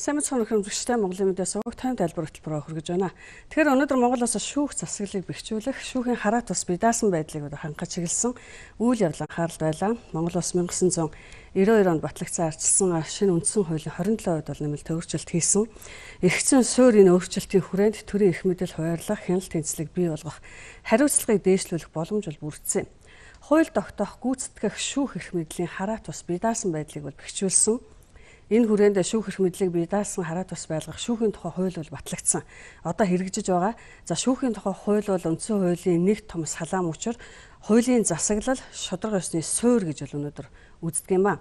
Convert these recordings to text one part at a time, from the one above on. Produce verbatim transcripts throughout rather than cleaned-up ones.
Сайн мэцхан хөрөмжтэй Монголын мэдээ суваг тайм тайлбар хөтөлбөрөөр хүргэж байна. Тэгэхээр өнөөдөр Монголоос шүүх засаглалыг бэхжүүлэх, шүүхийн хараа тус бие даасан байдлыг хангаж чиглэсэн үйл явдал анхаарал байлаа. Монгол улс 천구 девятьсот девяносто deux онд батлагдсан арчилсан шинэ үндсэн хуулийн двадцать seven хувьд бол нэмэлт өөрчлөлт хийсэн. Эргэцэн суурь энэ өөрчлөлтийн хүрээнд төрийн эрх мэдэл хуваарлах, хяналт тэнцлэг бий болгох, хариуцлагыг дээшлүүлэх боломж бол бүрдсэн. Хууль тогтоох, гүйцэтгэх шүүх эрх мэдлийн хараа тус бие даасан байдлыг бол бэхжүүлсэн. Энэ хүрээнд шүүх эрх мэдлийг бие даасан хараа тус байлгах шүүхийн тухай хууль бол батлагдсан. Одоо хэрэгжиж байгаа. За шүүхийн тухай хууль бол үндсэн хуулийн нэг том салаам учир хуулийн засаглал шударга ёсны суурь гэж бол өнөөдөр үздэг юм ба.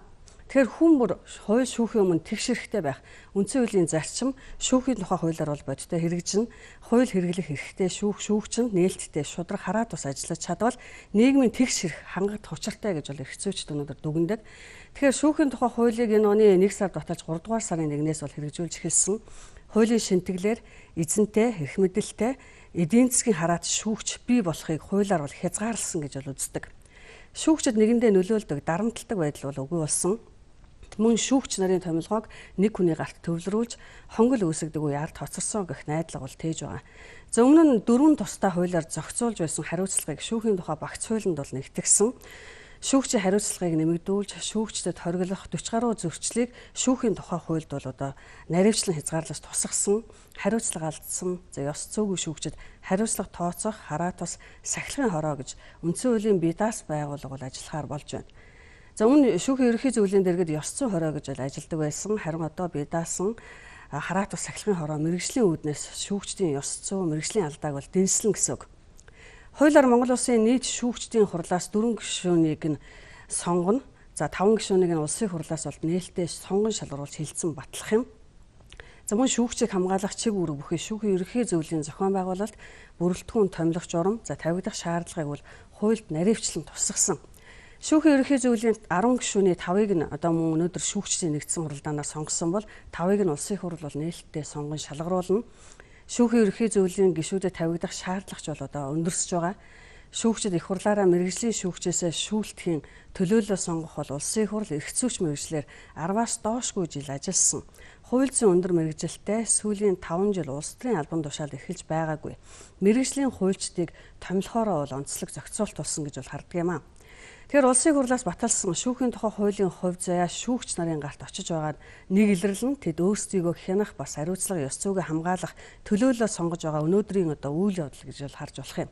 Тэгэхээр хүн бүр хууль шүүхийн өмнө тэгш хэрэгтэй байх. Үндсэн хуулийн зарчим шүүхийн тухай хуулиар бол бодиттой хэрэгжинэ. Хууль хэрэглэх эрхтэй шүүх шүүгчэнд нээлттэй шударга хараа тус ажиллаж чадвал нийгмийн тэгш хэрэг хангах учиртай гэж бол эрхцөөчд өнөөдөр дүгнэдэг. Тэгэхээр шүүхийн тухай хуулийг энэ оны нэг сард баталж гурав дугаар сарын нэгнээс бол хэрэгжүүлж эхэлсэн. Хуулийн шинтгэлээр эзэнтэй, эрх мэдэлтэй, эдийн засгийн хараат шүүгч бий болохыг хуулиар бол хязгаарласан гэж бол үздэг. Шүүгчд нэгэндээ нөлөөлдөг, дарамтлагдаг байдал бол үгүй болсон. Мөн шүүгч нарын томилгоог нэг хүний гарт төвлөрүүлж хонгол үүсгдэг үе ард хоцорсон гэх найдлага бол тээж байгаа. За өмнө нь дөрвөн тустай хуулиар зохицуулж байсан хариуцлагыг шүүхийн тухай багц хуулинд бол нэгтгэсэн. Шүүгчийн хариуцлагыг нэмэгдүүлж, шүүгчдэд хориглох forty гаруй зөрчлийг шүүхийн тухай хуульд бол одоо наривчлан хязгаарлаж тусгасан, хариуцлага алдсан, за ёс зүйгүй шүүгчид хариуцлага тооцоох, хараа тус сахилгын хороо гэж үндсэн хуулийн бие даасан байгууллага бол ажиллахаар болж байна. За өмнө шүүхийн ерөнхий зөвлөлийн дэргэд ёс зүйн хороо гэж ажилладаг байсан. Харин одоо бие даасан хараа тус сахилгын хороо мэргэжлийн үүднээс шүүгчдийн ёс зүй, мэргэжлийн алдааг бол дэнслэн гэсэн үг. Хуулиар Монгол Улсын нийт шүүгчдийн хурлаас дөрвөн гишүүнийг нь сонгоно. За таван гишүүнийг нь улсын хурлаас бол нээлттэй сонгон шалгаруулж хилцэн батлах юм. За мөн шүүгчийг хамгаалах чиг үүрэг бүхий шүүхийн ерөнхий зөвлөлийн зохион байгуулалт бүрэлдэхүүн томилох журам, за тавигдах шаардлагыг бол хуульд наривчлан тусгасан. Шүүхийн ерөнхий зөвлөлийн ten гишүүний five-ыг нь одоо мөн өнөөдөр шүүгчдийн нэгдсэн хуралдаанаар сонгосон бол five-ыг нь улсын хурал бол нээлттэй сонгон шалгаруулна. Шүүхийн ерөнхий зөвлөлийн гишүүдэд тавигдах шаардлагач бол одоо өндөрсөж байгаа. Шүүгчид их хурлаараа мэргэжлийн шүүгчээсээ шүүлтхийн төлөөлөл сонгох бол улсын хурал эрх зүйч мэргэжлэр ten-аас доошгүй жил ажилласан. Хууль зүйн өндөр мэргэжилтэй сүүлийн five жил улс төрийн албан тушаалд эхэлж байгаагүй. Мэргэжлийн хуульчдыг томилохороо бол онцлог зохицуулт болсон гэж бол харддаг юм аа. Тэгэхээр улсын хурлаас баталсан шүүхийн тухай хуулийн хувь заяа шүүгч нарын гарт очиж байгаад нэг илэрлэн тэд өөрсдийгөө хянах бас хариуцлага ёс зүйгээ хамгаалах төлөөлөл сонгож байгаа өнөөдрийн одоо үйл явдал гэж бол харж болох юм.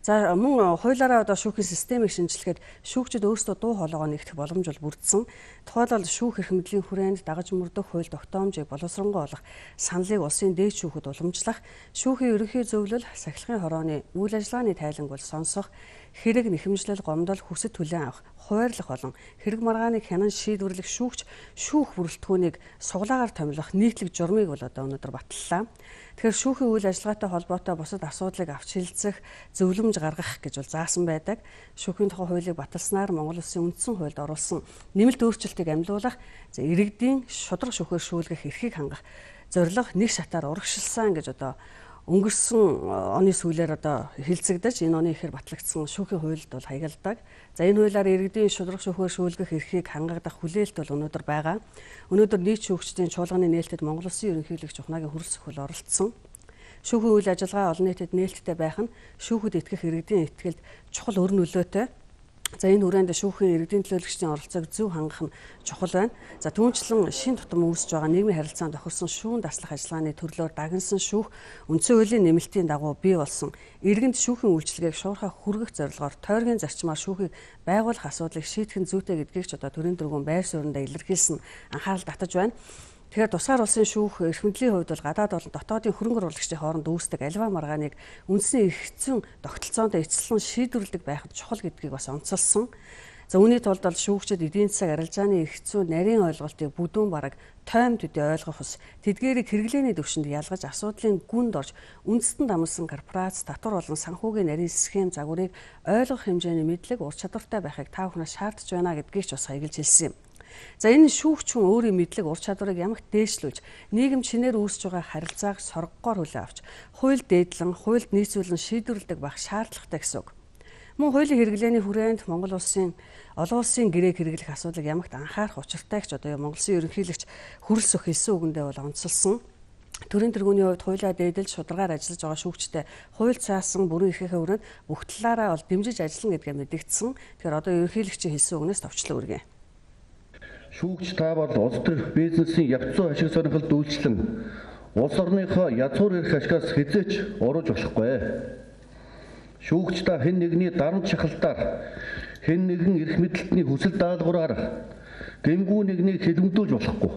За мөн хуулиараа одоо шүүхийн системийг шинжилгээд шүүгчид өөрсдөө дуу хоолойгоо нэгтгэх боломж бол бүрдсэн. Тухайлбал шүүх эрх мэдлийн хүрээнд дагаж мөрдөх хууль тогтоомжийг боловсронгуй олох саналыг улсын дээд шүүхэд уламжлах, шүүхийн ерөнхий зөвлөл, сахилгын хорооны үйл ажиллагааны тайланг бол сонсох, хэрэг нэхэмжлэл, гомдол, хүсэл түлээн авах, хуваарлах болон хэрэг маргааныг хянан шийдвэрлэх шүүгч шүүх бүрэлдэхүүнийг суглаагаар томилох нийтлэг журмыг бол одоо өнөөдөр баталлаа. Тэгэхээр шүүхийн үйл ажиллагаатай холбоотой бусад асуудлыг авч хэлцэх, зөвлөмж гаргах гэж бол заасан байдаг. Шүүхийн тухай хуулийг баталснаар Монгол Улсын үндсэн хуульд оруулсан нэмэлт өөрчлөлтийг амлуулах, за иргэдийн шударга шүүхээр шүүлгэх эрхийг хангах зорилго нэг шатаар урагшилсан гэж одоо өнгөрсөн оны сүүлээр одоо хэлцэгдэж энэ оны ихээр батлагдсан шүүхийн хуульд бол хаягалдаг. За энэ хуулиар иргэдийн шударга шүүхээр шүүлгэх эрхийг хангагдах хүлээлт бол өнөөдөр байгаа. Өнөөдөр нийт шүүгчдийн чуулганы нээлтэд Монгол Улсын ерөнхийлөгч ухнаагийн хөрөлсөх хөл оролцсон. Шүүхийн үйл ажиллагаа олон нийтэд нээлттэй байх нь шүүхэд итгэх иргэдийн итгэлд чухал өр нөлөөтэй. За энэ хүрээнд шүүхийн иргэдийн төлөөлөгчдийн оролцоог зөв хангах нь чухал байна. За түүнчлэн шин тутам үүсэж байгаа нийгмийн харилцаанд тохирсон шүүн даслах ажиллагааны төрлөөр дагнсан шүүх үндсэн хуулийн нэмэлтийн дагуу бий болсон. Иргэнд шүүхийн үйлчилгээг шуурхай хүргэх зорилгоор тойргийн зарчмаар шүүхийг байгуулах асуудлыг шийдэх нь зүйтэй гэдгийг ч одоо төрийн дөрвөн байр сууриндаа илэрхийлсэн анхаарал татаж байна. Тэгэхээр тусгаар улсын шүүх эрх мэдлийн хувьд бол гадаад болон дотоодын хөрөнгө оруулагчдын хооронд үүсдэг аливаа маргааныг үндсний эрх зүйн тогтолцоонд эцэслэн шийдвэрлэдэг байхад чухал гэдгийг бас онцолсон. За үүний тулд бол шүүгчид эдийн засаг арилжааны эрх зүйн нарийн ойлголтыг бүдүүн бараг тойм төдий ойлгох ус, тэдгээрийг хэрэглээний түвшинд ялгаж асуудлын гүнд орж үндэстэн дамсан корпорац, татвар болон санхүүгийн нарийн схем загварыг ойлгох хэмжээний мэдлэг, ур чадвартай байхыг та бүхнээс шаардж байна гэдгийг ч бас хаягдж хэлсэн юм. За энэ шүүгч хүн өөрийн мэдлэг ур чадварыг ямагт дээшлүүлж, нийгэм чинээр үүсэж байгаа харилцааг соргогоор хүлээн авч, хууль дээдлэн, хуульд нийцүүлэн шийдвэрлэдэг байх шаардлагатай гэсэн үг. Мөн хуулийн хэрэглээний хүрээнд Монгол улсын олон улсын гэрээг хэрэглэх асуудлыг ямагт анхаарах учиртай гэж одоо Монгол Улсын ерөнхийлөгч хүрэлцэх хэлсэн үгэндээ бол онцлсон. Төрийн тэргүүний хувьд хуулиа дээдэлж шударгаар ажиллаж байгаа шүүгчтэй хууль цаасан бүрэн эрхийнхээ хүрээнд бүх талаараа бол дэмжиж ажиллана гэдгээ мэдэгдсэн. Тэгэхээр одоо ерөнхийлөгчийн хэлсэн үгнээс товчлон үргэн. Шүүгч та бол улс төрх бизнесийн явц зүйн ашиг сонирхолд үйлчлэн улс орныхоо язгуур эрх ашигаас хязгаарч урууж болохгүй. Шүүгч та хэн нэгний дарамт шахалтаар хэн нэгэн эрх мэдэлтний хүсэл даалгавраар гэмгүй нэгнийг хэлэмдүүлж болохгүй.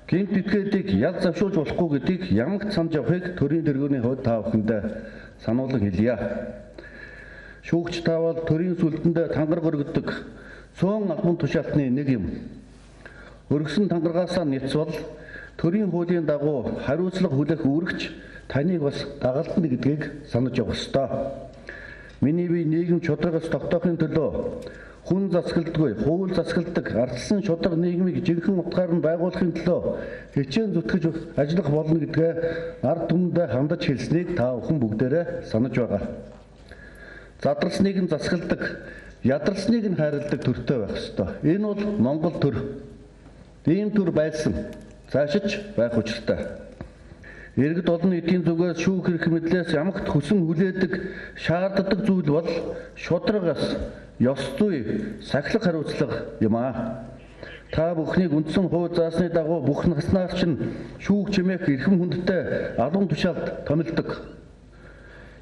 Гэмт этгээдийг ял завшуулж болохгүй гэдгийг ямагт санаж явахыг төрийн тэргүүний хувьд та бүхэндээ сануулган хэлье. Шүүгч та бол төрийн сүлдэндээ тангараг өргөдөг цөөн албан тушаалтны нэг юм. Өргөсөн тангарагаасаа няцвал төрийн хуулийн дагуу хариуцлага хүлээх үүрэгч таныг бас дагалдана гэдгийг санаж явах ёстой. Миний бие нийгэм чудрагаас тогтоохын төлөө хүн засгалдаггүй, хууль засгалдаг ардсан шудраг нийгмийг жинхэнэ утгаар нь байгуулахын төлөө хичээн зүтгэж ажиллах болно гэдгээ ард түмэндээ хандаж хэлснийг та бүхэн бүгдээрээ санаж байгаа. Задралсныг нь засгалдаг, ядарсныг нь хайрладаг төртэй байх ёстой. Энэ бол Монгол төр. Ийм төр байсан. Цаашиж байх учиртай. Иргэд олон нийтийн зүгээс шүүх эрх мэдлээс ямагт хүсэн хүлээдэг, шаарддаг зүйл бол шударгаас ёс зүй, сахилах хариуцлага юм аа. Та бүхнийг үндсэн хууль заасны дагуу бүх наснаас чинь шүүх чимээх эрхэм хүндтэй албан тушаалд томилдог.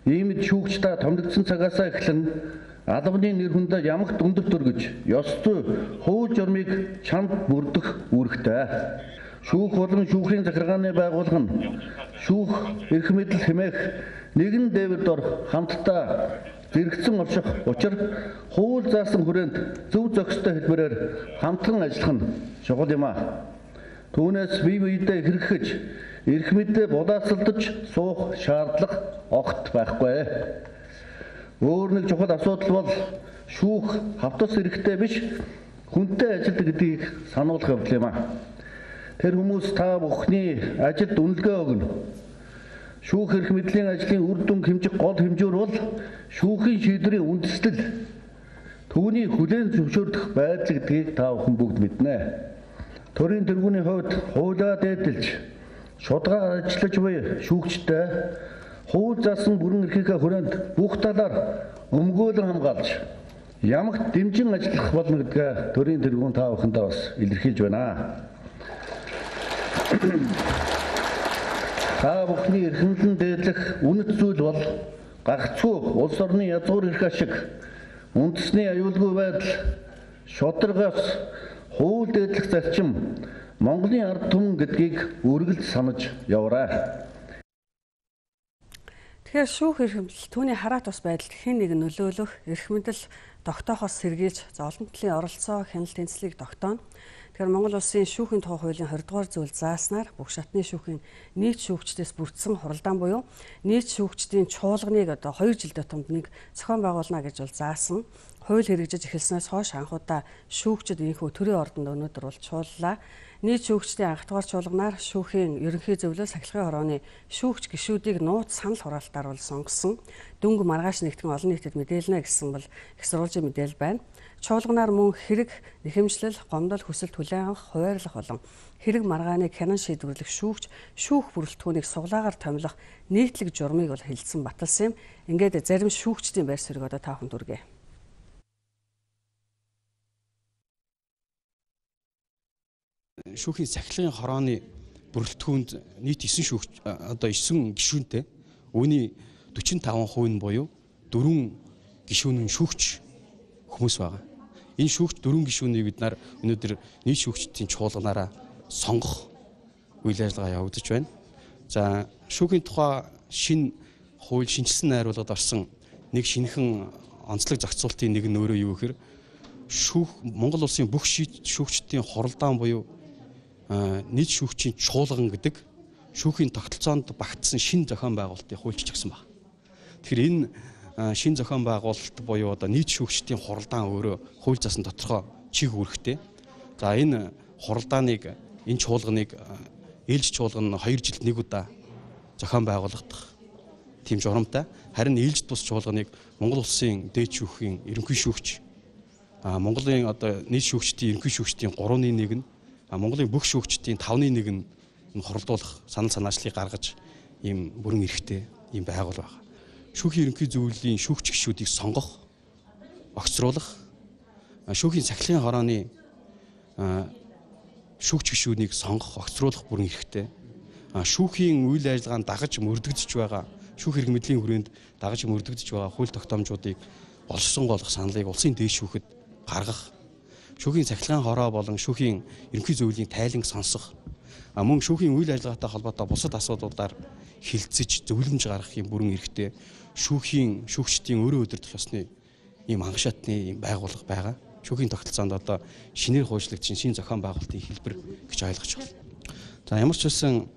Иймд шүүгч та томилогдсон цагаасаа эхлэн албаны нэр хүндээ ямагт өндөр төргөж, ёс зүй, хууль журмыг чамд бүрдэх үүрэгтэй. Шүүх болон шүүхийн захиргааны байгууллага нь шүүх эрх мэдэл хэмээх нэгэн дээвэр дор хамтдаа зэрэгцэн орших учир хууль заасан хүрээнд зөв зохистой хэлбэрээр хамтран ажиллах нь чухал юм а. Түүнээс бие биедээ хэрэгжиж эрх мэдээ булаацалдаж суух шаардлага огт байхгүй. Өөр нэг чухал асуудал бол шүүх хавтас хэрэгтэй биш хүнтэй ажилд гэдгийг сануулах явдал юм а. Тэр хүмүүс та бүхний ажилд үнэлгээ өгнө. Шүүх эрх мэдлийн ажлын үр дүн хэмжих гол хэмжүүр бол шүүхийн шийдвэрийн үндэслэл. Түүний хүлээн зөвшөөрөх байдал гэдгийг та бүхэн бүгд мэднэ. Төрийн тэргүүний хувьд хуулиа дээдэлж шударгаар ажиллаж буй шүүгчтэй хууль заасан бүрэн эрхийнхээ хүрээнд бүх талаар өмгөөлөн хамгаалж ямагт дэмжин ажиллах болно гэдгээ төрийн тэргүүн та бүхэндээ бас илэрхийлж байна. Та бүхний эрхэмлэн дээдлэх үнэт зүйл бол гагцхүү улс орны язгуур эрх ашиг, үндэсний аюулгүй байдал, шударгаас хууль дээдлэх зарчим, Монголын ард түмэн гэдгийг үргэлж санаж яваарай. Тэгэхээр шүүх эрх мэдэл түүний хараат ус байдалд хэн нэг нөлөөлөх эрх мэдэл тогтоохоос сэргийлж олон талын оролцоо хяналт тэнцлийг тогтооно. Тэгэхээр Монгол Улсын шүүхийн тухай хуулийн хоёр дугаар зүйл зааснаар бүх шатны шүүхийн нийт шүүгчдээс бүрдсэн хуралдаан буюу нийт шүүгчдийн чуулганыг одоо хоёр жилдээ томд нэг зохион байгуулна гэж бол заасан. Хууль хэрэгжиж эхэлснээс хойш анхудаа шүүгчид ийхүү төрийн ордонд өнөөдөр бол чууллаа. Нийт шүүгчдийн анх дугаар чуулганаар шүүхийн ерөнхий зөвлөл сахилгын хорооны шүүгч гишүүдийг нууц санал хураалтаар бол сонгосон. Дөнгө маргааш нэгтгэн олон нийтэд мэдээлнэ гэсэн бол их сурвалжийн мэдээлэл байна. Чуулганаар мөн хэрэг, нэхэмжлэл, гомдол, хүсэлт хүлээн авах, хуваарлах болон хэрэг маргааныг хянан шийдвэрлэх шүүгч, шүүх бүрэлдэхүүнийг суглаагаар томилох нийтлэг журмыг бол хэлсэн баталсан юм. Ингээд зарим шүүгчдийн байр суурийг одоо та бүхэнд хүргэе. Шүүхийн сахилгын хорооны бүрэлдэхүүнд нийт девять шүүгч одоо девять гишүүнтэй үүний forty-five percent нь буюу дөрвөн гишүүн нь шүүгч хүмүүс байгаа. Энэ шүүгч дөрвөн гишүүнийг бид нар өнөөдөр нийт шүүгчдийн чуулганаараа сонгох үйл ажиллагаа явагдаж байна. За шүүхийн тухай шинэ хууль шинжилсэн найруулгад орсон нэг шинэхэн онцлог зохицуултын нэг нь өөрөө юу гэхээр шүүх Монгол улсын бүх шүүгчдийн хуралдаан буюу нийт шүүгчийн чуулган гэдэг шүүхийн тогтолцоонд багтсан шинэ зохион байгуулалтыг хуульчилж өгсөн байна. Тэгэхээр энэ шинэ зохион байгуулалт буюу одоо нийт шүүгчдийн хуралдаан өөрөө хууль заасан тодорхой чиг үүрэгтэй. За энэ хуралдааныг энэ чуулганыг ээлж чуулган хоёр жилд нэг удаа зохион байгуулагдах тийм журамтай. Харин ээлжид бус чуулганыг Монгол улсын дээд шүүхийн ерөнхий шүүгч, Монголын одоо нийт шүүгчдийн ерөнхий шүүгчдийн гурваны нэг нь, Монголын бүх шүүгчдийн тавны нэг нь хоролдуулах санал санаачлалыг гаргаж ийм бүрэн эрхтэй ийм байгуул байна. Шүүхийн ерөнхий зөвлөлийн шүүгч гишүүдийг сонгох, огцруулах, шүүхийн сахилгын хорооны шүүгч гишүүдийг сонгох, огцруулах бүрэн эрхтэй. Шүүхийн үйл ажиллагаанд дагаж мөрдөгдөж байгаа, шүүх хэрэг мэдлийн хүрээнд дагаж мөрдөгдөж байгаа хууль тогтоомжуудыг боловсронгойлгох саналыг улсын дээд шүүхэд гаргах, шүүхийн сахилгын хороо болон шүүхийн ерөнхий зөвлөлийн тайланг сонсох, мөн шүүхийн үйл ажиллагаатай холбоотой бусад асуудлуудаар хилцэж зөвлөмж гаргах юм бүрэн эрхтэй шүүхийн шүүгчдийн өөрөө удирдах ёсны ийм хангашаатны ийм байгууллага байгаа. Шүүхийн тогтолцоонд одоо шинээр хуучлагдсан шинэ зохион байгуулалтын хэлбэр гэж ойлгож байна. За ямар ч байсан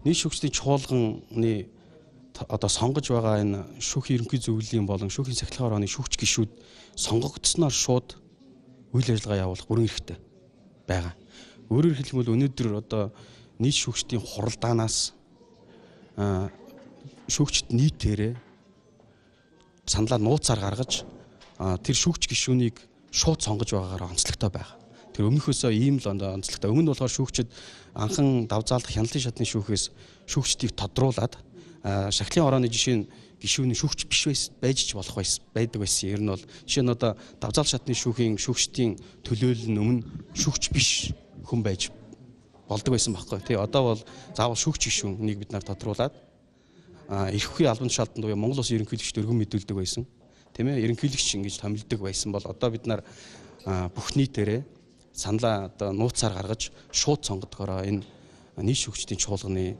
нийт шүүгчдийн чуулганы одоо сонгож байгаа энэ шүүхийн ерөнхий зөвлөлийн болон шүүхийн сахилгын хорооны шүүгч гишүүд сонгогдсноор шууд үйл ажиллагаа явуулах бүрэн эрхтэй байгаа. Өөрөөр хэлбэл өнөөдөр одоо нийт шүүгчдийн хуралдаанаас шүүгчд нийтээрээ саналаа нууцаар гаргаж тэр шүүгч гишүүнийг шууд сонгож байгаагаар онцлогтой байгаа. Тэр өмнөхөөсөө ийм л онцлогтой. Өмнө нь болохоор шүүгчд анхан давзаалдах хяналтын шатны шүүхээс шүүгчдийг тодруулаад сахилгын хорооны жишээ нь гишүүний шүүгч биш байж ч болох байсан байдаг байсан. Ер нь бол жишээ нь одоо давзаал шатны шүүхийн шүүгчдийн төлөөлөл нь өмнө шүүгч биш хүн байж болдог байсан байхгүй тий. Одоо бол заавал шүүгч гишүүнийг бид нар тодруулаад эрх үхий албан тушаалтанд буюу Монгол Улсын ерөнхийлөгчд өргөн мэдүүлдэг байсан. Тийм ээ, ерөнхийлөгч ингэж томилдог байсан бол одоо бид нар бүх нийтээрээ саналаа одоо нууцаар гаргаж шууд сонгодгороо энэ нийт шүүгчдийн чуулганы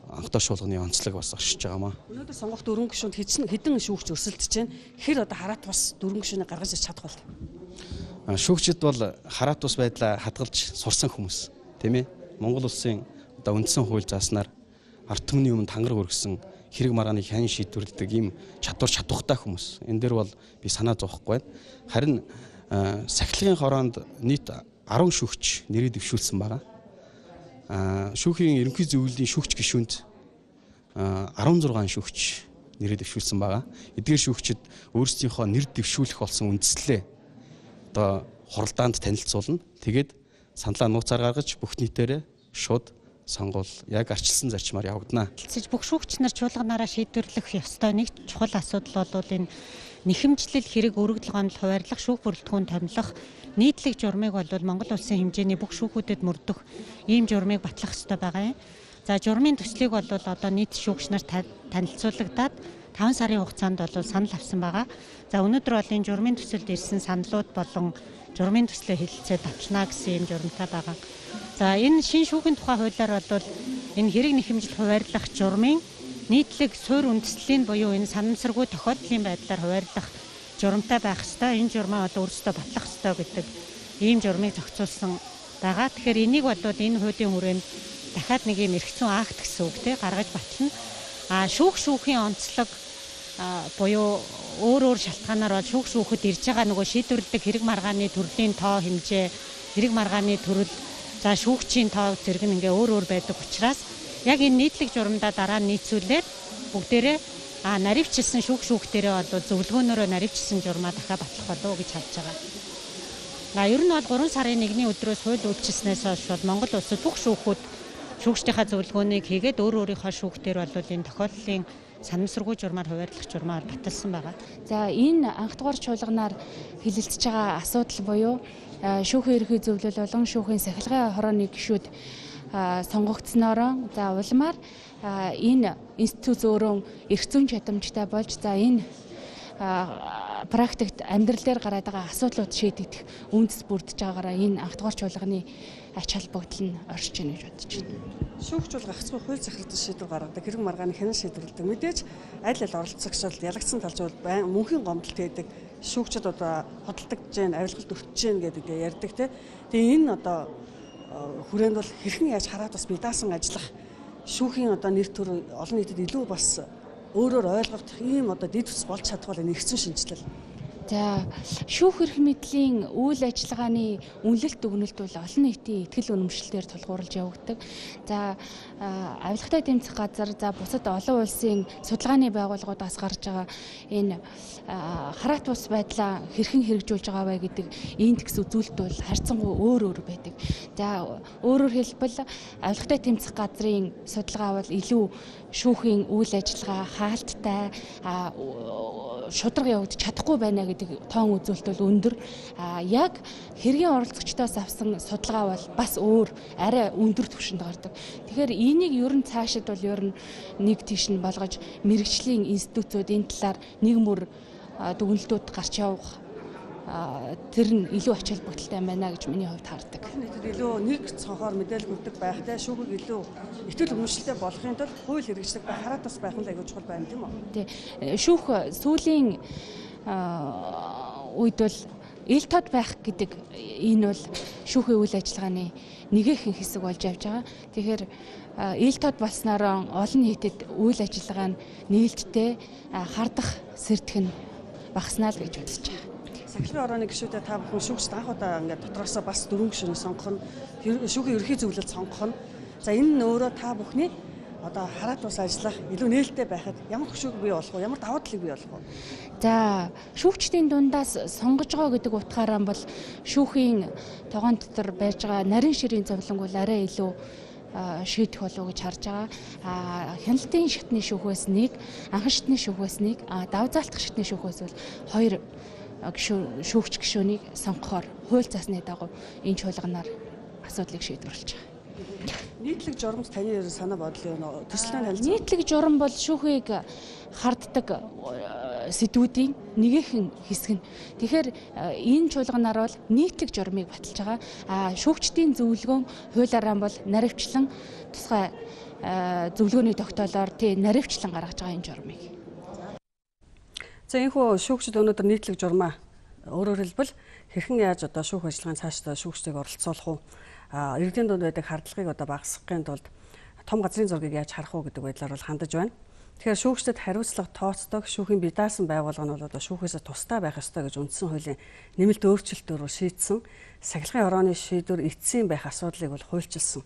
анхдаа шуулганы онцлог бас оршиж байгаамаа. Өнөөдөр сонгох дөрвөн гишүүнд хэдэн шүүгч өрсөлдөж байна. Хэр одоо хараат бас дөрвөн гишүүнийг гаргаж ирч чадах бол. Шүүгчид бол хараат ус байдлаа хадгалж сурсан хүмүүс. Тийм ээ. Монгол улсын одоо үндсэн хууль зааснаар ард түмний өмнө тангар өргөсөн хэрэг маргааныг хянь шийдвэрлэдэг ийм чадвар чадвартай хүмүүс. Энэ дээр бол би санаа зовхгүй байна. Харин сахилгын хороонд нийт арван шүүгч нэрээ дэвшүүлсэн байгаа. Шүүхийн ерөнхий зөвлөлийн шүүгч гишүүнд арван зургаан шүүгч нэрээ дэвшүүлсэн байгаа. Эдгээр шүүгчид өөрсдийнхөө нэр дэвшүүлэх болсон үндслээ одоо хуралдаанд танилцуулна. Тэгээд саналаа нууцаар гаргаж бүх нийтээрээ шууд сонгуул яг арчилсан зарчмаар явагдана. Бүх шүүгч нар чуулганаараа шийдвэрлэх ёстой нэг чухал асуудал бол энэ нэхэмжлэл хэрэг өргөдөл гомдол хуваарлах шүүх бүрэлдэхүүн томилох нийтлэг журмыг бол Монгол улсын хэмжээний бүх шүүхүүдэд мөрдөх ийм журмыг батлах ёстой байгаа юм. За журмын төслийг бол одоо нийт шүүгч нарт танилцуулагдаад таван сарын хугацаанд бол санал авсан байгаа. За өнөөдөр бол энэ журмын төсөлд ирсэн саналууд болон журмын төслөө хэлэлцээд авчнаа гэсэн юм журамтай байгаа. За энэ шин шүүхийн тухай хуулиар бол энэ хэрэг нэхэмжил хуваарлах журмын нийтлэг суурь үндэслэлийн буюу энэ санамсаргүй тохиолдлын байдлаар хуваарлах журамтай байх ёстой. Энэ журмаа бол өөрсдөө батлах ёстой гэдэг ийм журмыг зохицуулсан байгаа. Тэгэхээр энийг бол энэ хуулийн хүрээнд дахиад нэг юм эрх зүйн акт гэсэн үг те гаргаж батлана. А шүүх шүүхийн онцлог буюу өөр өөр шалтгаанаар бол шүүх шүүхэд ирж байгаа нөгөө шийдвэрлэдэг хэрэг маргааны төрлийн тоо хэмжээ, хэрэг маргааны төрөл, за шүүгчийн тоо зэрэг нь ингээ өөр өөр байдаг учраас яг энэ нийтлэг журамдаа дараа нь нийцүүлээд бүгдээрээ а наривчилсан шүүх шүүхтэрээ бол зөвлөгөөнөөрөө наривчилсан журмаа дахиад батлах болов уу гэж харж байгаа. А ер нь бол гурван сарын нэгний өдрөөс хууль үйлчилснээс хойш бол Монгол улсад бүх шүүхүүд шүүгчдийнхаа зөвлөгөөнийг хийгээд өөр өөрийнхөө шүүхтэр бол энэ тохиолдлын санамсаргүй журмаар хуваарлах журмаар баталсан байгаа. За энэ анх дугаар чуулганаар хилэлцэж байгаа асуудал буюу шүүхийн ерхий зөвлөл болон шүүхийн сахилгын хорооны гишүүд сонгогдсноороо за улмаар энэ институт өөрөө эрх зүйн чадамжтай болж за энэ практикт амьдрал дээр гараад байгаа асуудлууд шийдэгдэх үндэс бүрдэж байгаагаараа энэ анх дугаар чуулганы ач холбогдол нь оршиж байна гэж бодож байна. Шүүгч бол гагцхүү хууль захирагдсан шийдвэр гаргадаг, хэрэг маргааны хянан шийдвэрлэдэг. Мэдээж аль аль оролцогчдод ялагдсан талж бол байн мөнхийн гомдолт хийдэг. Шүүгчд одоо хөдөлдөж जैन, авилгалд өртөж जैन гэдэг ярьдаг те. Тэгээ энэ одоо хүрээнд бол хэрхэн яаж хараад бас бидаасан ажиллах шүүхийн одоо нэр төр олон нийтэд илүү бас өөрөөр ойлгох ийм одоо дэд үс болж чадвал энэ эрх зүйн шинжилэл. За шүүх эрх мэдлийн үйл ажиллагааны үнэлэлт дүгнэлт бол олон нийтийн ихтгэл үнэмшлэлээр тулгуурлаж явагддаг. За авилгатай тэмцэх газар, за бусад олон улсын судалгааны байгууллагуудаас гарч байгаа энэ хараат бус байдлаа хэрхэн хэрэгжүүлж байгаа вэ гэдэг индекс үзүүлэлт бол харьцангуй өөр өөр байдаг. За өөрөөр хэлбэл авилгатай тэмцэх газрын судалгаа бол илүү шүүхийн үйл ажиллагаа хаалттай шударга явагдаж чадахгүй байна гэдэг тоон үзүүлэлт бол өндөр. А яг хэргийн оролцогчдоос авсан судалгаа бол бас өөр арай өндөр түвшинд гардаг. Тэгэхээр энийг ер нь цаашид бол ер нь нэг тийш нь болгож мэрэгжлийн институтууд энэ талаар нэг мөр дүгнэлтүүд гарч явах тэр нь илүү ач холбогдолтой байна гэж миний хувьд хардаг. Нийтэд илүү нэг цонхоор мэдээлэл өгдөг байхтай шүүхийг илүү ихтгэл үнэмшилтэй болохын тулд хууль хэрэгжлэг ба хараат бас байх нь аягүй чухал байна тийм үү? Тий. Шүүх сүүлийн үед бол ил тод байх гэдэг энэ бол шүүхийн үйл ажиллагааны нэгэн хэсэг болж явж байгаа. Тэгэхээр ил тод болсноор олон нийтэд үйл ажиллагаа нь нээлттэй хардах сэрдэх нь багаснаа л гэж бодож байгаа. Сахилгын орооны гишүүдэд та бүхэн шүүгчд анх удаа ингээд дотроосоо бас дөрвөн гишүүнийг сонгох нь шүүхийн ерөнхий зөвлөлд сонгох нь. За энэ нь өөрөө та бүхний одоо хараат ус ажиллах илүү нээлттэй байхад ямар хөшөөг бий болох вэ? Ямар давуу талыг бий болох вэ? За шүүгчдийн дундаас сонгож байгаа гэдэг утгаараа бол шүүхийн тогоон дотор байж байгаа нарийн ширийн зовлонг бол арай илүү шийдэх болов уу гэж харж байгаа. А хяналтын шатны шүүхээс нэг, анхан шатны шүүхээс нэг, давуу заалтах шатны шүүхээс бол хоёр шүүгч гишүүнийг сонгохоор хууль засны дагуу энэ чуулганаар асуудлыг шийдвэрлэж байгаа. Нийтлэг журамд таны санаа бодол юу вэ? Төслийн танилцуулга. Нийтлэг журам бол шүүхийг харддаг сэдвүүдийн нэгэн хэсэг нь. Тэгэхээр энэ чуулганаар бол нийтлэг журмыг баталж байгаа. А шүүгчдийн зөвлөгөөн хуулиараа бол наривчлан тусгай зөвлөгөөний тогтоолоор тий наривчлан гаргаж байгаа энэ журмыг. За энэхүү шүүгчд өнөөдөр нийтлэг журмаа өөрөөр хэлбэл хэрхэн яаж одоо шүүх ажиллагааны цаашдаа шүүгчдийг оролцуулах уу? А иргэдийн дунд байдаг хардлагыг одоо багасгахын тулд том газрын зургийг яаж харах уу гэдэг байдлаар бол хандаж байна. Тэгэхээр шүүгчдэд хариуцлага тооцдог шүүхийн бие даасан байгууллага нь бол одоо шүүхээс тусдаа байх ёстой гэж үндсэн хуулийн нэмэлт өөрчлөлтөөр шийдсэн сахилгын хорооны шийдвэр эцсийн байх асуудлыг бол хуульчилсан.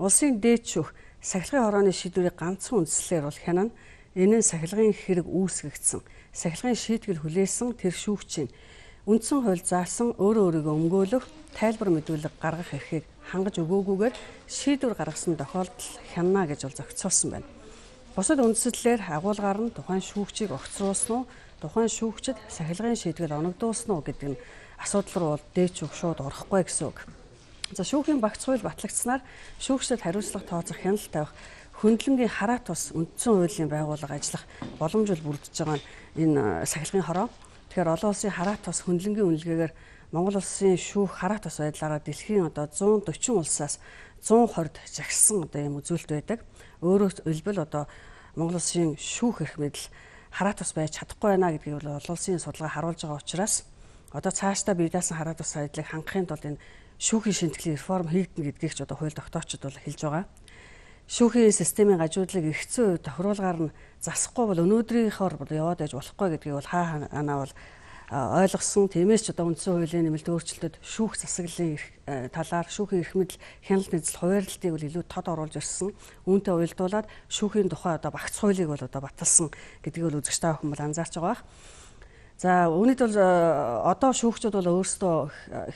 Улсын дээд шүүх сахилгын хорооны шийдвэрийг ганцхан үндслээр бол хянана. Энэ нь сахилгын хэрэг үүсгэгдсэн сахилгын шийтгэл хүлээсэн тэр шүүгчийн үндсэн хууль заасан өөрөө өөрийгөө өмгөөлөх тайлбар мэдүүлэг гаргах эрхийг хангаж өгөөгүйгээр шийдвэр гаргасан тохиолдол хянана гэж бол зохицуулсан байна. Бусад үндслэлээр агуулгаар нь тухайн шүүгчийг огцруулсан уу, тухайн шүүгчид сахилгын шийдвэл оногдуулсан уу гэдэг нь асуудал руу бол дээд шүүх шууд орохгүй гэсэн үг. За шүүхийн багц хууль батлагдсанаар шүүгчдэд хариуцлага тооцох хяналт тавих хөндлөнгийн хараат ус үндсэн хуулийн байгууллага ажиллах боломж бол бүрдэж байгаа энэ сахилгын хороо. Тэгэхээр олон улсын хараат ус хөндлөнгийн үнэлгээгээр Монгол улсын шүүх хараат ус байдлаараа дэлхийн одоо зуун дөрвөн улсаас зуун хорд жагсан одоо юм үзүүлэлт байдаг. Өөрөөр хэлбэл одоо Монгол улсын шүүх эрх мэдэл хараат ус байж чадахгүй байна гэдгийг бол олон улсын судалгаа харуулж байгаа учраас одоо цаашдаа бие даасан хараат ус байдлыг хангахын тулд энэ шүүхийн шинжилгээ реформ хийгдэнэ гэдгийг ч одоо хууль тогтоочд бол хэлж байгаа. Шүүхийн системийн гажуудлыг эргэцэн үед тохируулгаар нь засахгүй бол өнөөдрийнхоор яваад байж болохгүй гэдгийг бол хаа ханаа бол ойлгосон. Тиймээс ч одоо үндсэн хуулийн нэмэлт өөрчлөлтөд шүүх засаглалын талаар шүүхийн эрх мэдэл хяналт нийцэл хуваарлтыг бол илүү тод оруулж ирсэн. Үүнтэй уялдуулаад шүүхийн тухай одоо багц хуулийг бол одоо баталсан гэдгийг бол үзэгч та бүхэн бол анзаарч байгаа бах. За үүнийд бол одоо шүүгчид бол өөрсдөө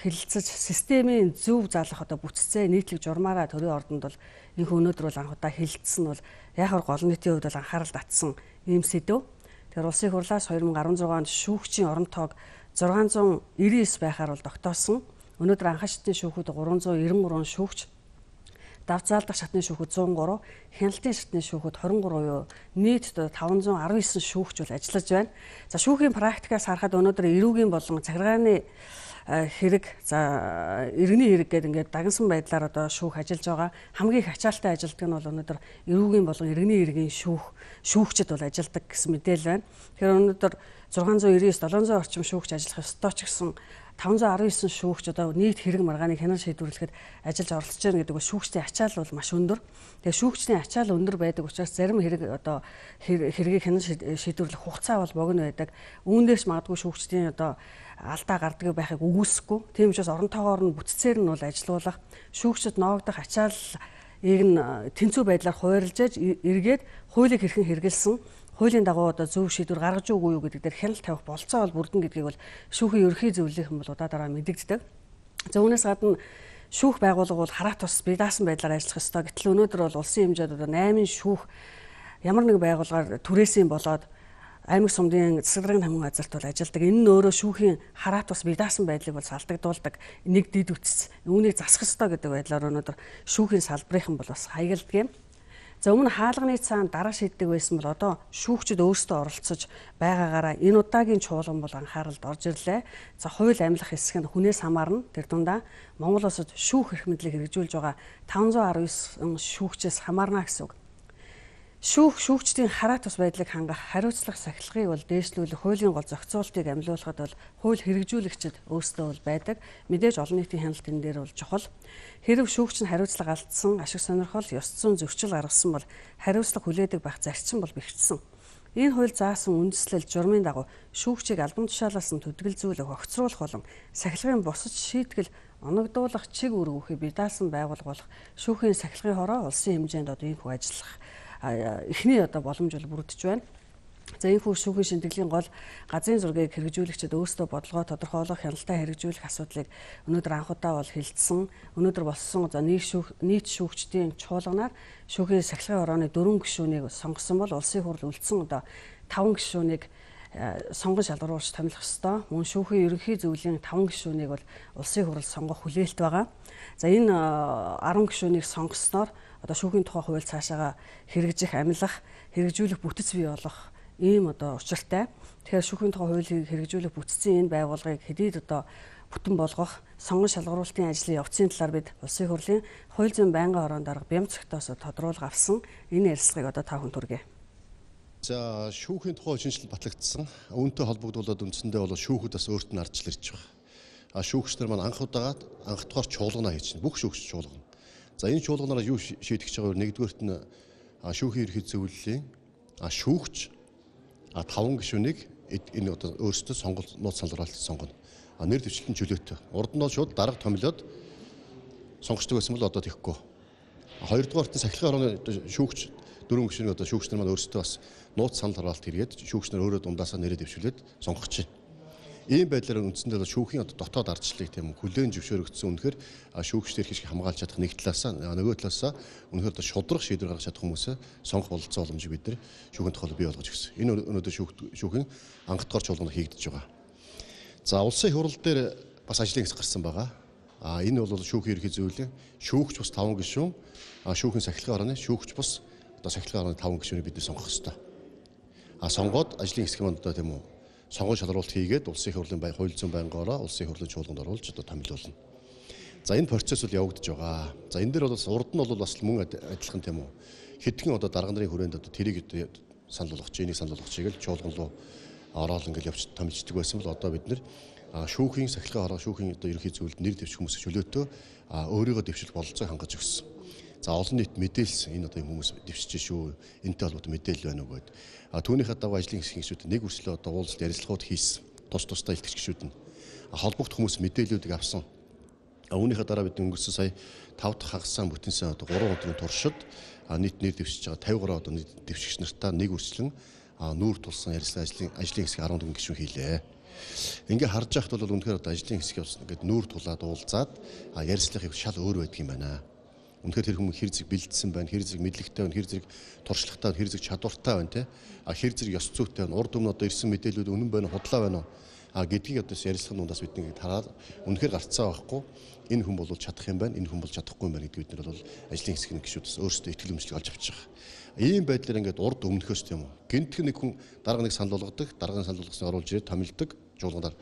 хэлэлцэж системийн зөв заалах одоо бүтцээ нийтлэг журмаараа төрийн ордонд бол энэхүү өнөөдөр бол анх удаа хэлэлцсэн нь бол яг хөр гол нийтийн хувьд бол анхаарал татсан ийм сэдв. Тэгэхээр улсын хурлаас хоёр мың арван зургаан онд шүүгчийн орон тоог зургаан зуун девять девять байхаар бол тогтоосон. Өнөөдөр анхан шатны шүүхүүд гурван зуун девяносто гурван шүүгч, давцаалдах шатны шүүхүүд зуун гурав, хяналтын шатны шүүхүүд хорин гурав юу нийт таван зуун арван девять шүүгч бол ажиллаж байна. За шүүхийн практикаас харахад өнөөдөр эрүүгийн болон захиргааны хэрэг за иргэний хэрэг гэдэг ингээд дагнсан байдлаар одоо шүүх ажиллаж байгаа. Хамгийн их ачаалттай ажилтдаг нь бол өнөөдөр эрүүгийн болон иргэний хэргийн шүүх шүүгчд бол ажилдаг гэсэн мэдээлэл байна. Тэгэхээр өнөөдөр зургаан зуун девяносто девять долоон зуун орчим шүүгч ажиллах ёстой ч гэсэн таван зуун арван девять шүүгч одоо нийт хэрэг маргааныг хянан шийдвэрлэхэд ажиллаж оролцож байна гэдэг нь шүүгчдийн ачаал бол маш өндөр. Тэгээ шүүгчдийн ачаал өндөр байдаг учраас зарим хэрэг одоо хэргийг хянан шийдвэрлэх хугацаа бол богино байдаг. Үүндээс магадгүй шүүгчдийн одоо алдаа гардаг байхыг үгүйсэхгүй. Тийм учраас оронтойгоор нь бүтцээр нь бол ажилуулах, шүүгчд ноогдох ачаалыг нь тэнцүү байдлаар хуваарлаж эргээд хуулийг хэрхэн хэрэгэлсэн, хуулийн дагуу одоо зөв шийдвэр гаргаж өгөө юу гэдэг дээр хяналт тавих болцоо бол бүрдэн гэдгийг бол шүүхийн ерөнхий зөвлөлийн бол удаа дараа мэдэгддэг. За үүнээс гадна шүүх байгууллага бол хараа тус бие даасан байдлаар ажиллах ёстой. Гэтэл өнөөдөр бол улсын хэмжээнд одоо найман шүүх ямар нэг байгууллагаар түрээсийн болоод аймаг сумдын засаг даргын хамгаалалтын газарт бол ажилладаг. Энэ нь өөрөө шүүхийн хараа тус бие даасан байдлыг бол салтагдуулдаг. Нэг дид үтс үүнийг засах ёстой гэдэг байдлаар өнөөдөр шүүхийн салбарынхан бол бас хаягддаг юм. За өмнө хаалганы цаана дараа шийддэг байсан бол одоо шүүгчид өөрсдөө оролцож байгаагаараа энэ удаагийн чуулган бол анхааралд орж ирлээ. За хууль амьлах хэсэг нь хүнээс хамаарна. Тэр дундаа Монгол улсад шүүх эрх мэдлийг хэрэгжүүлж байгаа таван зуун арван девять шүүгчээс хамаарна гэсэн үг. Шүүх шүүгчдийн хараа тус байдлыг хангах, хариуцлах сахилгыг бол дээшлүүлэх, хуулийн гол зохицуултыг амлиулахад бол хууль хэрэгжүүлэгчид өөрсдөө бол байдаг. Мэдээж олон нийтийн хяналт энэ дээр бол чухал. Хэрв шүүгч нь хариуцлага алдсан, ашиг сонирхол, ёс зүйн зөрчил гаргасан бол хариуцлага хүлээдэг байх зарчим бол бэхжсэн. Энэ хууль заасан үндэслэл журмын дагуу шүүгчийг албан тушаалаас нь төдөлгөлзүүлэх, огцруулах болон сахилгын бусад шийтгэл оногдуулах, чиг үүргүүхийг бие даасан байгуулга болох шүүхийн сахилгын хороо улсын хэмжээнд одоо энэ хүү ажиллах эхний одоо боломж бол бүрдэж байна. За энэ хүү шүүхийн шинтгэлийн гол газрын зургийг хэрэгжүүлэгчид өөрсдөө бодлогоо тодорхойлох, хяналтаа хэрэгжүүлэх асуудлыг өнөөдөр анхудаа бол хилцсэн. Өнөөдөр болсон за нийт шүүх нийт шүүгчдийн чуулганаар шүүхийн сахилгын хорооны дөрвөн гишүүнийг сонгосон бол улсын хурл үлдсэн одоо таван гишүүнийг сонгон шалгаруулж томилох ёстой. Мөн шүүхийн ерөнхий зөвлөлийн таван гишүүнийг бол улсын хурл сонгох хүлээлт байгаа. За энэ арван гишүүнийг сонгосноор одоо шүүхийн тухай хууль цаашаага хэрэгжих, амлах, хэрэгжүүлэх бүтэц бий болох ийм одоо учиртай. Тэгэхээр шүүхийн тухай хуулийг хэрэгжүүлэх бүтцийн энэ байгууллагыг хэдийд одоо бүтэн болгох, сонгон шалгаруулалтын ажлын явцын талаар бид улсын хурлын хууль зүйн байнгын хороонд дарга Бямцагтаас тодруулга авсан. Энэ ярилцлагыг одоо та бүхэнд хүргэе. За шүүхийн тухай шинжилэл батлагдсан. Үүнтэй холбогдуулаад үндсэндээ бол шүүхэд бас өөрт нь ардчил ирж байгаа. А шүүгчнэр маань анх удагаад анх дахь чуулгана хийж байна. Бүх шүүгч чуулгана. За энэ чуулганаараа юу шийдэж байгаа вэ? Нэгдүгээрт нь шүүхийн ерхий зөвлөлийн шүүгч таван гишүүнийг энэ одоо өөрсдөө сонголт нууц салгаруулалт сонгоно. Нэр дэвшлэлтэн чөлөөтэй. Урд нь бол шууд дарга томилоод сонгочдөг байсан бол одоо тийхгүй. Хоёрдугаарт нь сахилгын хорооны шүүгч дөрвөн гишүүнийг одоо шүүгчнэр маань өөрсдөө бас нууц санал хараалт хийгээд шүүгчнэр өөрөө дундаасаа нэрээ дэвшүүлээд сонгох чинь. Ийм байдлаар үндсэндээ шүүхийн одоо дотоод ардчлалыг тийм хүлээн зөвшөөрөгдсөн үнэхээр шүүгчдэр хэрэг хамгаалж чадах нэг талаасаа нөгөө талаасаа үнэхээр одоо шудрах шийдвэр гаргаж чадах хүмүүсээ сонгох бололцоо боломжийг бид нэр шүүхийн тухай бий болгож өгсөн. Энэ өнөөдөр шүүхийн анх дахь чуулганд хийгдэж байгаа. За улсын хурал дээр бас ажлын хэсэг гарсан байгаа. А энэ бол шүүхийн ерхий зөвлөлийн шүүгч бас таван гишүүн, шүүхийн сахилгын хорооны шүүгч бас одоо сахилгын хорооны таван гишүүнийг бид сонгох ёстой. А сонгоод ажлын хэсэг маань одоо тийм үү сонгон шалгаруулалт хийгээд улсын хурлын бай хууль зүйн байнгаараа улсын хурлын чуулганд оруулж одоо томилуулна. За энэ процесс бол явагдаж байгаа. За энэ дээр бол урд нь бол бас мөн адилхан тийм үү. Хэдхэн одоо дарга нарын хүрээнд одоо тэрийг санал болгоч, энийг санал болгочихъя гэж чуулган руу ороод ингээл явж томилждаг байсан бол одоо бид нэр шүүхийн сахилгын хороо шүүхийн одоо ерөнхий зөвлөлд нэр дэвших хүмүүсийн чөлөөтэй өөрийгөө дэвших бололцоог хангаж өгсөн. За олон нийт мэдээлсэн энэ одоо хүмүүс дэвшиж шүү. Энтэй холбоотой мэдээлэл байна уу гэдэг. А түүнийхээ дагуу ажлын хэсгийн гишүүд нэг үрслээ одоо уулзалт ярилцлагууд хийсэн. Тус тусдаа илтгэж гишүүд нь холбогдох хүмүүс мэдээллүүдийг авсан. А үүнийхээ дараа бид өнгөрсөн сая тав дахь хагасан бүтэнсэн одоо гурван өдрийн туршид нийт нэр дэвшиж байгаа тавин гурван одоо нийт дэвшигч нартаа нэг үрслэн нүүр тулсан ярилцлага ажлын ажлын хэсгийг арван дөрвөн гишүүн хийлээ. Ингээ харж байхад бол үнэхээр одоо ажлын хэсэг явсан ингээд нүүр тулаад уулзаад ярилцлагыг шал өөр байдаг юм байна. Үнэхээр тэр хүмүүс хэр зэрэг бэлдсэн байна, хэр зэрэг мэдлэгтэй байна, хэр зэрэг туршлагатай байна, хэр зэрэг чадвартай байна те. А хэр зэрэг ёс зүйтэй байна, урд өмнө одоо ирсэн мэдээлэлүүд үнэн байна, худлаа байна уу? А гэдгийг одоо ярилцлагын дундаас бид нэг хараад үнэхээр гарцаа байхгүй. Энэ хүн бол чадах юм байна, энэ хүн бол чадахгүй юм байна гэдгийг бид нар бол ажлын хэсгийн гишүүдээс өөрсдөө итгэл үнэмшлийг олж авч байгаа. Ийм байдлаар ингээд урд өмнөхөөс тийм үү. Гэнтхэн нэг хүн дарга нэг санал болгодог, дарганы санал болгосныг оруулж ирээд томилдог чуулганаар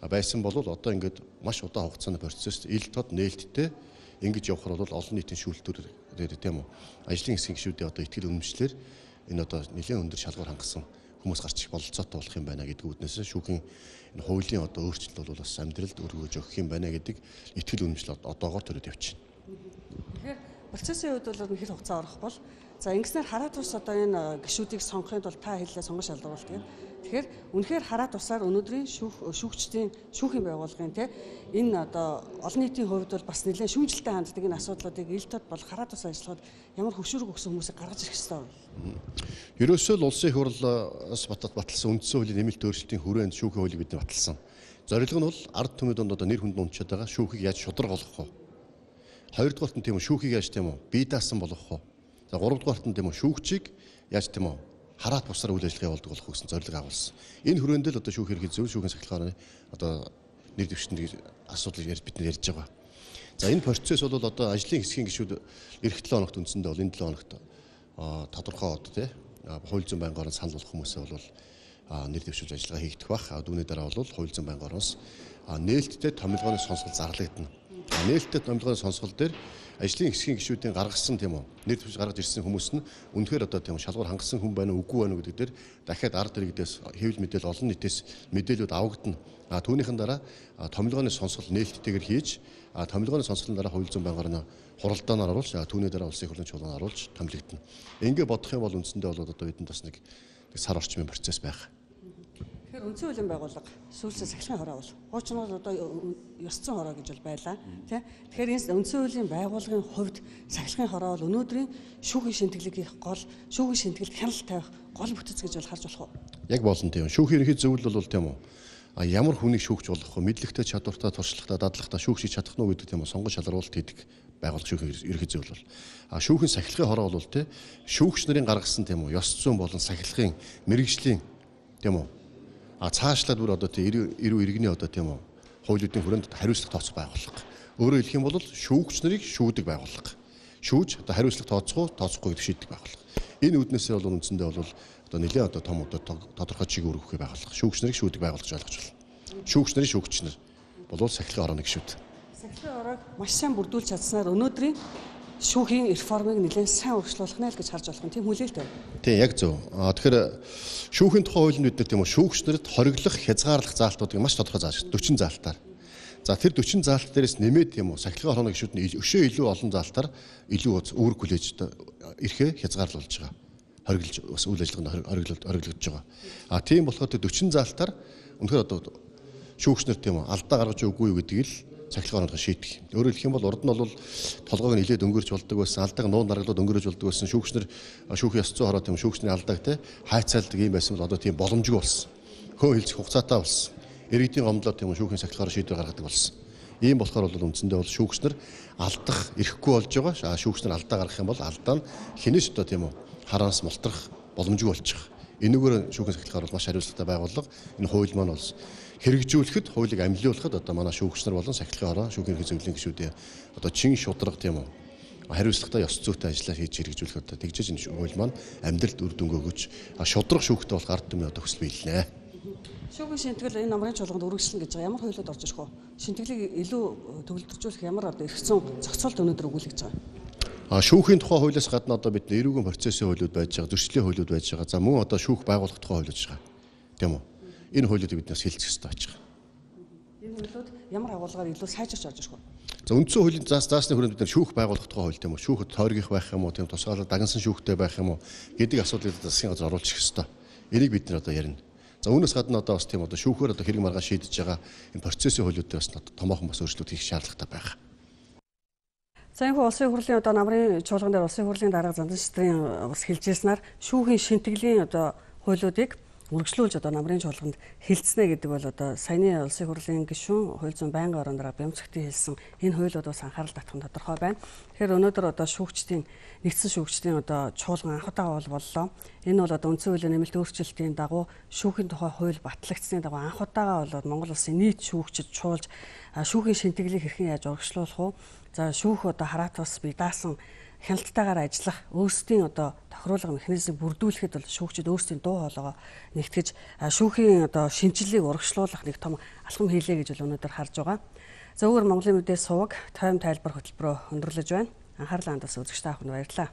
байсан бол одоо ингээд маш удаан хугацааны процесс ил тод нээлттэй ингэж явхаар бол олон нийтийн шүүлтүүр дээр тийм үү. Ажлын хэсгийн гишүүдийн одоо итгэл үнэмшлэр энэ одоо нэлээд өндөр шалгуур хангасан хүмүүс гарч ирэх бололцоотой болох юм байна гэдэг үүднээс шүүхийн энэ хуулийн одоо өөрчлөлт бол бас амьдралд өргөж өгөх юм байна гэдэг итгэл үнэмшил одоогоор төрөд явчихна. Тэгэхээр процессын үед бол хэр хугацаа орох бол за ингэснээр хараа тус одоо энэ гишүүдийг сонгохын тулд та хэллээ сонгож шалгуулт гэдэг. Тэгэхээр үнэхээр хараа тусаар өнөөдрийн шүүх шүүгчдийн шүүхийн байгууллагын те энэ одоо олон нийтийн хувьд бол бас нэлээд шүүмжлэлтэй ханддаг энэ асуудлуудыг ил тод бол хараа тус ажиллахад ямар хөшүүрэг өгсөн хүмүүсийг гаргаж ирэх ёстой вэ? Ерөөсөө л улсын их хурлаас баталсан үндсэн хуулийн нэмэлт өөрчлөлтийн хүрээнд шүүхийн хуулийг бид баталсан. Зорилго нь бол ард түмэд одоо нэр хүнд унчаад байгаа шүүхийг яаж шударга болгох вэ? Хоёрдугаарт нь тийм үү шүүхийг яаж тийм үү бие даасан болгох вэ? За гуравдугаарт нь тийм үү шүүгчийг яаж тийм үү хараат бусаар үйл ажиллагаа явуулдаг болох гэсэн зорилго агуулсан. Энэ хүрээнд л одоо шүүх ерхий зөв шүүхийн сахилгааны одоо нэр дэвшинтийн асуудлыг ярьж бид нар ярьж байгаа. За энэ процесс бол одоо ажлын хэсгийн гишүүд эх долоо хоногт үндсэндээ бол энэ долоо хоногт тодорхой одоо тий хууль зүйн байнгын орон санал болох хүмүүсээ бол нэр дэвшүүлж ажиллагаа хийгдэх бах. Дүүний дараа бол хууль зүйн байнгын ороноос нээлттэй томилгооны сонсгол зарлагдана. Нээлттэй томилгооны сонсгол дээр ажлын хэсгийн гишүүдийн гаргасан тийм үү нэр дэвшиж гаргаж ирсэн хүмүүс нь үнэхээр одоо тийм шалгуур хангасан хүн байна уу үгүй байна уу гэдэг дээр дахиад ард иргэдээс хэвлэл мэдээлэл олон нийтээс мэдээлэлүүд авагдана. А түүнийхэн дараа томилгооны сонсгол нээлттэйгээр хийж томилгооны сонсголын дараа хууль зүйн байнгын хуралдаанаар оруулж түүний дараа улсын их хурлын чуулганд оруулж томилогдно. Ингээ бодох юм бол үндсэндээ бол одоо бидэнд бас нэг сар орчмын процесс байх. Тэгэхээр үндсэн хуулийн байгууллага сүүлсээ сахилгын хороо бол хуучин бол одоо ёс зүйн хороо гэж бол байлаа тий. Тэгэхээр энэ үндсэн хуулийн байгууллагын хувьд сахилгын хороо бол өнөөдрийн шүүхийн шинтгэлийг хийх гол шүүхийн шинтгэлд хяналт тавих гол бүтэц гэж бол харж болох уу? Яг болно тийм. Шүүхийн ерөнхий зөвлөл бол тийм үү. А ямар хүнийг шүүгч болох вэ? Мэдлэгтэй, чадвартай, туршлагатай, дадлагтай шүүгчийг чадах нь гэдэг тийм үү сонгож шалгаруулалт хийдэг байгууллага шүүхийн ерөнхий зөвлөл бол. А шүүхийн сахилгын хороо бол тий шүүгч нарын гаргасан тийм үү ёс зүйн болон сахилгын мэрэгжлийн тийм үү а цаашлаад бүр одоо тий эрүү иргэний одоо тийм үү хуулиудын хүрээнд хариуцлага тооцох байгууллага. Өөрөөр хэлэх юм бол шүүгч нарыг шүүдэг байгууллага. Шүүж одоо хариуцлага тооцох уу, тооцохгүй гэдэг шийддэг байгууллага. Энэ үүднээсээ бол үндсэндээ бол одоо нэлээд одоо том одоо тодорхой чиг өргөх байгууллага. Шүүгч нарыг шүүдэг байгууллага гэж ойлгож байна. Шүүгч нарын шүүгч нар бол сахилгын хорооны гишүүд. Сахилгын хороог маш сайн бүрдүүлж чадсанаар өнөөдрийн шүүхийн реформыг нэлээд сайн өргөжлүүлэх нэ л гэж харж болох юм. Тийм хүлээлт байна. Тийм яг зөв. Аа тэгэхээр шүүхийн тухай хуулинд бид нар тийм үү шүүгч нарт хориглох, хязгаарлах заалтуудыг маш тодорхой зааж дөрвөн заалтаар. За тэр дөрвөн заалт дээрээс нэмээд тийм үү сахилгын хорооны гишүүд нь өшөө илүү олон заалтаар илүү үүрэг хүлээж ирэхээ хязгаарлуулж байгаа. Хориглож бас үйл ажиллагаанд хориглолт хориглогдож байгаа. А тийм болохоор тэр дөрвөн заалтаар үнэхээр одоо шүүгч нар тийм үү алдаа гаргаж өггүй юу гэдгийг л сахилгын хороонд шийдэх. Өөрөөр хэлэх юм бол урд нь бол толгойг нь нилээд өнгөрч болдог байсан, алдааг нуун даргалууд өнгөрөөж болдог байсан. Шүүгч нар шүүхийн ёс зүйн хороо тийм шүүгчний алдааг те хайцаалдаг юм байсан бол одоо тийм боломжгүй болсон. Хөө хэлцэх хугацаатай болсон. Иргэдийн гомдлоо тийм шүүхийн сахилгын хороо шийдвэр гаргадаг болсон. Ийм болохоор бол үндсэндээ бол шүүгч нар алдах эрхгүй болж байгаа. Шүүгч нар алдаа гаргах юм бол алдаа нь хинэж одоо тийм үү хараас мултрах боломжгүй болж байгаа. Энэгээр шүүхийн сахилгын хороо маш хариуцлагатай байгууллага. Энэ хууль маань бол хэрэгжүүлэхэд хуулийг амлиулахад одоо манай шүүгч нар болон сахилгын хороо шүүхийн ерхий зөвлөлийн гишүүдээ одоо чин шударга тийм үү хариуцлагатай ёс зүйтэй ажиллаа хийж хэрэгжүүлэхэд одоо тэгжээж энэ хууль маань амьдралд үр дүнг өгөж шударга шүүхтэй болох ард түмний одоо хүсэл биелнэ. Шүүхийн шинтгэл энэ намрын чуулганд үргэлжлэн гэж байгаа. Ямар хуулиуд орж ирэх вэ? Шинтгэлийг илүү төгөлдржүүлэх ямар одоо эрх зүйн зохицуулт өнөөдөр өгүүлэгдэж байгаа. А шүүхийн тухай хуулиас гадна одоо бид эрүүгийн процессын хуулиуд байж байгаа, зөрчлийн хуулиуд байж байгаа. За мөн одоо шүүх байгуулах тухай хуулиуд байгаа. Тийм үү? Энэ хуулиудыг биднээс хэлцэх ёстой байж байгаа. Энэ хуулиуд ямар агуулгаар илүү сайжирч орж ирэх вэ? За үндсэн хуулийн заас заасны хүрээнд бид нар шүүх байгуулах тухай хууль тийм үү? Шүүхэд тойргих байх юм уу, тийм тусгаалаад дагнсан шүүхтэй байх юм уу гэдэг асуудлыг засгийн газар оруулах ёстой. Энийг бид нар одоо ярина. За үүнээс гадна одоо бас тийм одоо шүүхээр одоо хэрэг маргааш шийдэж байгаа энэ процессын хуулиудыг бас томоохон бас өөрчлөлт хийх шаардлагатай байна. За энэ улсын хурлын одоо намрын чуулган дээр улсын хурлын дарга зандан шитрийн бас хэлжсэнээр шүүхийн шинтгэлийн одоо хуулиудыг үргэлжлүүлж одоо намрын чуулганд хилцнэ гэдэг бол одоо саяны улсын хурлын гишүүн хууль зүйн байнгын орон дараа Бямцагтын хэлсэн энэ хуулиуд бас анхаарал татах нь тодорхой байна. Тэгэхээр өнөөдөр одоо шүүгчдийн нэгдсэн шүүгчдийн одоо чуулган анх удаа боллоо. Энэ бол одоо үндсэн хуулийн нэмэлт өөрчлөлтийн дагуу шүүхийн тухай хууль батлагдсны дагуу анх удаага болоод Монгол улсын нийт шүүгчид чуулж шүүхийн шинтгэлийг хэрхэн яаж урагшлуулах вэ? За шүүх одоо хараат бас бие даасан хяналтайгаар ажиллах өөрсдийн одоо тохируулга механизмыг бүрдүүлэхэд бол шүүгчид өөрсдийн дуу хоолойгоо нэгтгэж шүүхийн одоо шинжилгээг урагшлуулах нэг том алхам хийлээ гэж бол өнөөдөр харж байгаа. За өөр Монголын мэдээ суваг тойм тайлбар хөтөлбөрөөр өндөрлөж байна. Анхаарлаа хандуулсан үзэгчтэй аханд баярлалаа.